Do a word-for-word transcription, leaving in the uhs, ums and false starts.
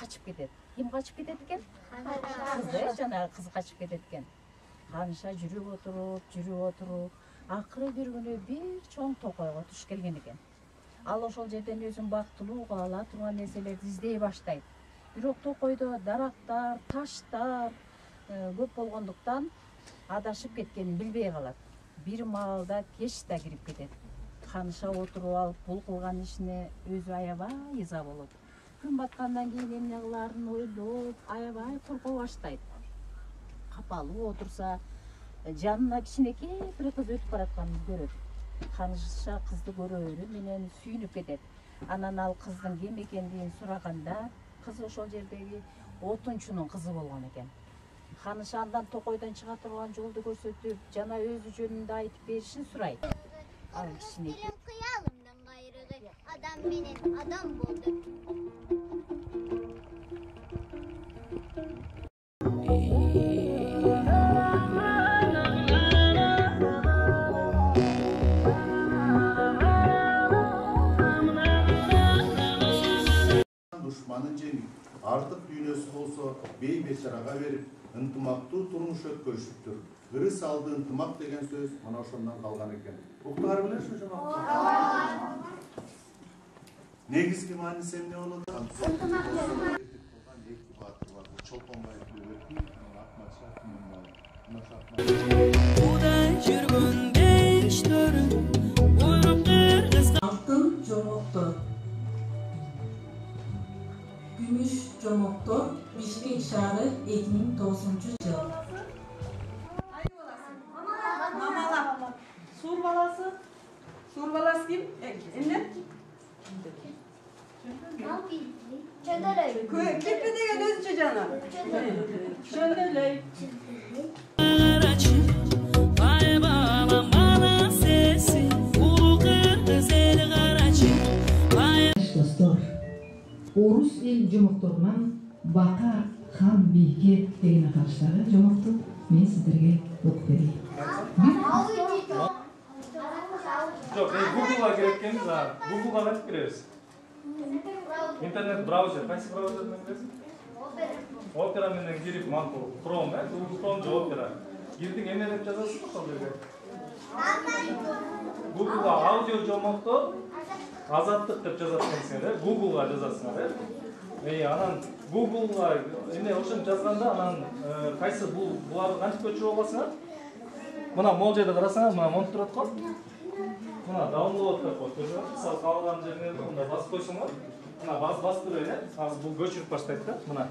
качып кетет. Ким качып кетет экен? Кыз, жанагы кыз качып кетет экен. Канша жүрүп отуруп, жүрүп отуруп, акыры бир күнү бир чоң токойго туш келген экен. Ал ошол жерден өзүн бактылууга ала турган нерселерди издей баштайт. Бирок токойдо дарактар, таштар көп болгондуктан адашып кеткенин билбей калат. Бир маалда кеч да кирип кетет. Канша отуруп алып, бул кылган ишине өзү аябай ыза болот. Күн баткандан кийин эмне кылаарын ойлоп, аябай корко баштайт. Капалуу отурса, жанына кичинекей бир кыз өтүп баратканын көрөт. Канша кызды көрөрү менен сүйүнүп кетет. Анан ал кыздын ким экендигин сураганда, кыз ошол жердеги отунчунун кызы болгон экен. Каныша андан токойдон чыга турган жолду көрсөтүп, жана өзү жөнүндө айтып беришин сурайт. Ал кичинекей кыялымдын кайрыгы адам менен адам болду. Душманын жеңип, артык дүйнөсү болсо бей бечарага берип, ынтымактуу турмуш өткөрүшүптүр. Ырыс алды ынтымак деген сөз мына ошондон калган экен. Уктар билесиз ошону? Негизги мааниси эмне болот? Ынтымак. Эки баатыр бар. Чолпонбаев Бөбөкүн, Акмат Шакимов. Кудай жүргөн бештөрү, буйрук кыргыз. Алтын жомоктор. Gümüş Жомоктор, Бишкек шаары эки миң тогузунчу жыл. Мамала. Сур баласы. Сур баласы ким? Эмне? Чөндөлөй. Кепе деген өзүнчө жана. Чөндөлөй. Орус эл жомокторунан Бака хан бийге деген аталыштагы жомокту мен сиздерге окуп берейин. Жок, мен Google'га кирип экенбиз, Google'га кантип киребиз? Интернет браузер, кайсы браузер менен киресиз? Opera менен кирип, макул, Chrome, э, Google Chrome же Opera. Кирдиң эмне деп жазасыз ошол жерге? Google'га аудио жомоктор азаттык деп жазат экенсиңер, э? Google'га жазасыңар, э? Эй, анан Google'га эмне ошентип жазганда, анан кайсы бул буларды кантип көчүрүп аласыңар? Мына могул жерде карасаңар, мына монтип турат го. Мына download деп коет. Мисалы калган жериңерде мында басып койсоңор, мына бас басып берейин, э? Азыр бул көчүрүп баштайт да, мына.